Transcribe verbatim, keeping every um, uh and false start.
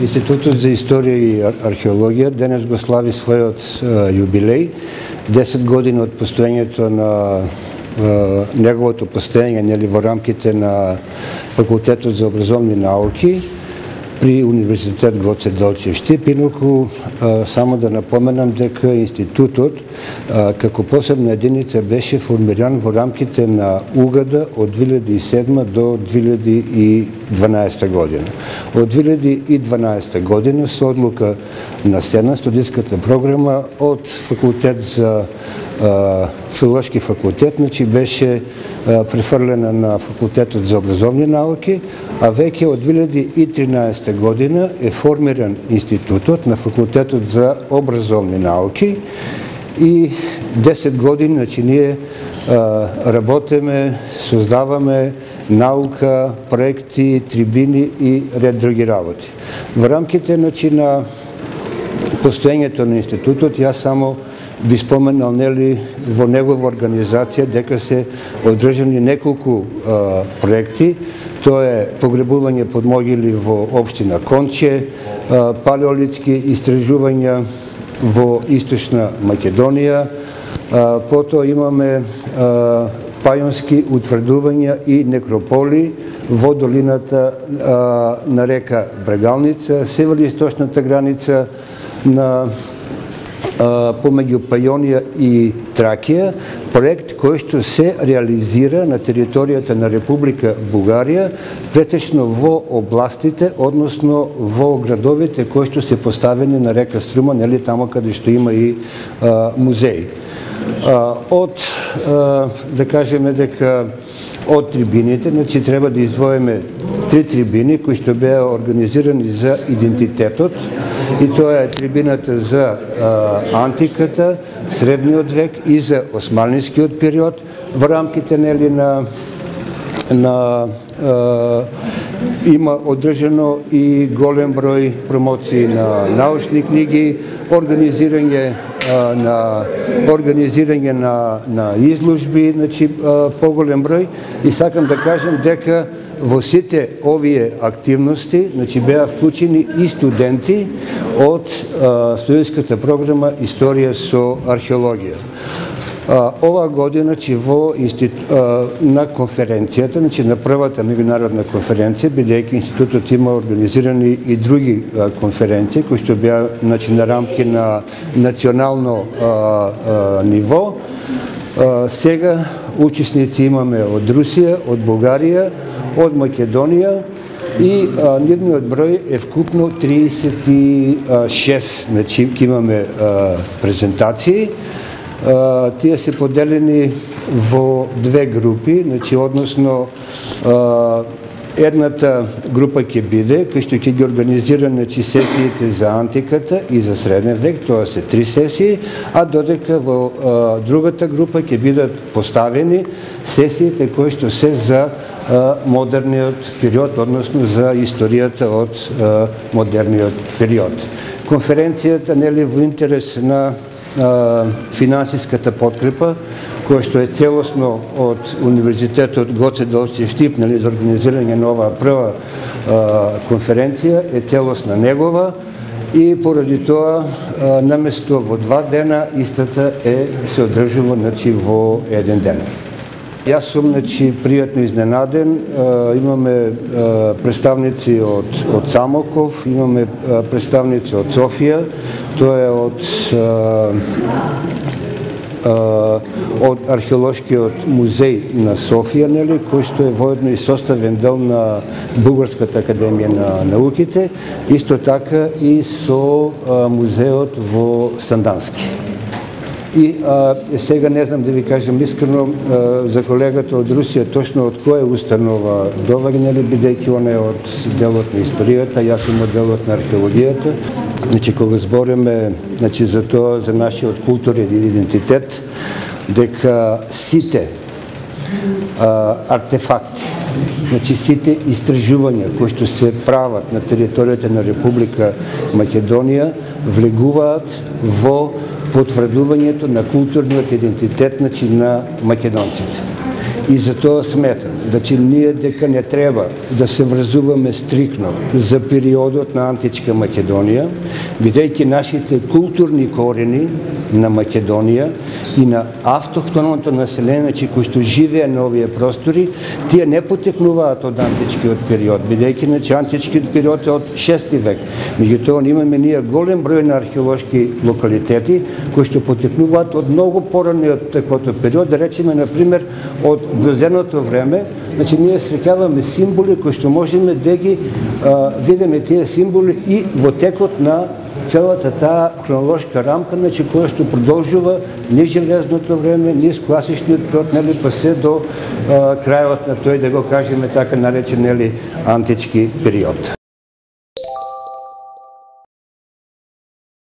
Институтот за историја и археологија денес го слави својот јубилеј, десет години од постоењето на неговото постоење нели во рамките на Факултетот за образовни науки при Универзитет Гоце Делчев Штип. Инаку само да напоменам дека институтот како посебна единица беше формиран во рамките на УГАДа од две илјади и седма до две илјади и дванаесета година. Од две илјади и дванаесета година со одлука на Сенат студиската програма од факултет за филолошки факултет, значи беше префрлена на Факултетот за образовни науки, а веќе од две илјади и тринаесета година е формиран институтот на Факултетот за образовни науки и десет години, значи ние работиме, создаваме наука, проекти, трибини и ред други работи. Во рамките значи на постоењето на институтот, јас само би споменал нели во негова организација дека се одржани неколку а, проекти. Тоа е погребување под могили во општина Конче, а, палеолитски истражувања во Источна Македонија, а, потоа имаме а, пајонски утврдувања и некрополи во долината а, на река Брегалница, североисточната граница на помеѓу Пајонија и Тракија, проект кој што се реализира на територијата на Република Бугарија, претечно во областите, односно во градовите кои што се поставени на река Струма, нели тамо каде што има и а, музеи. А, од, а, да кажеме дека од трибините, значи треба да издвоиме три трибини кои што беа организирани за идентитетот, и тоа е трибината за а, антиката, средниот век и за османлискиот период во рамките нели на на а, има одржано и голем број промоции на научни книги, организирање а, на организирање на на изложби, значи а, поголем број, и сакам да кажам дека во сите овие активности, значи беа вклучени и студенти од а, студентската програма Историја со археологија. А, ова година, значи во институ... а, на конференцијата, значи на првата меѓународна конференција, бидејќи институтот има организирани и други а, конференции кои што беа значи на рамки на национално а, а, ниво. А, сега учесници имаме од Русија, од Бугарија, од Македонија и а, нивниот број е вкупно триесет и шест, значи имаме а, презентации. А, тие се поделени во две групи, значи односно а, едната група ќе биде кој што ќе ги организира значи сесиите за антиката и за среден век, тоа се три сесии, а додека во а, другата група ќе бидат поставени сесиите кои што се за а, модерниот период, односно за историјата од а, модерниот период. Конференцијата нели во интерес на финансиската подкрепа, која што е целосно од Универзитетот Гоце Делчев Штип, нели за организирање на оваа прва а, конференција е целосна негова, и поради тоа а, наместо во два дена истата е се одржува значи во еден ден. Јас сум значи пријатно изненаден, а, имаме а, представници од од Самоков, имаме а, представници од Софија, тоа е од а, а, од археолошкиот музеј на Софија, нели, кој што е воедно и составен дел на Бугарската академија на науките, исто така и со а, музеот во Сандански. И а, сега не знам да ви кажам искрено а, за колегата од Русија точно од која установа доваѓа, нели, бидејќи он е од делот на историјата, јас сум од делот на археологијата. Значи кога збориме значи за тоа за нашиот културен идентитет, дека сите а, артефакти, значи сите истражувања кои што се прават на територијата на Република Македонија влегуваат во потврдувањето на културниот идентитет значи на македонците. И за тоа сметам значи ние дека не треба да се врзуваме стрикно за периодот на античка Македонија, бидејќи нашите културни корени на Македонија и на автохтоното население, значи кои што живее на овие простори, тие не потекнуваат од античкиот период, бидејќи значи античкиот период е од шести век. Меѓутоа имаме ние голем број на археолошки локалитети кои што потекнуваат од многу пораниот таквото период, да речеме на пример од грозеното време. Значи ние среќаваме символи кои што можеме да ги а, видиме тие символи и во текот на целата таа хронолошка рамка, значи која што продолжува низ железното време, низ класичниот период, нели, па се до а, крајот на тој, да го кажеме така наречен, нели, антички период.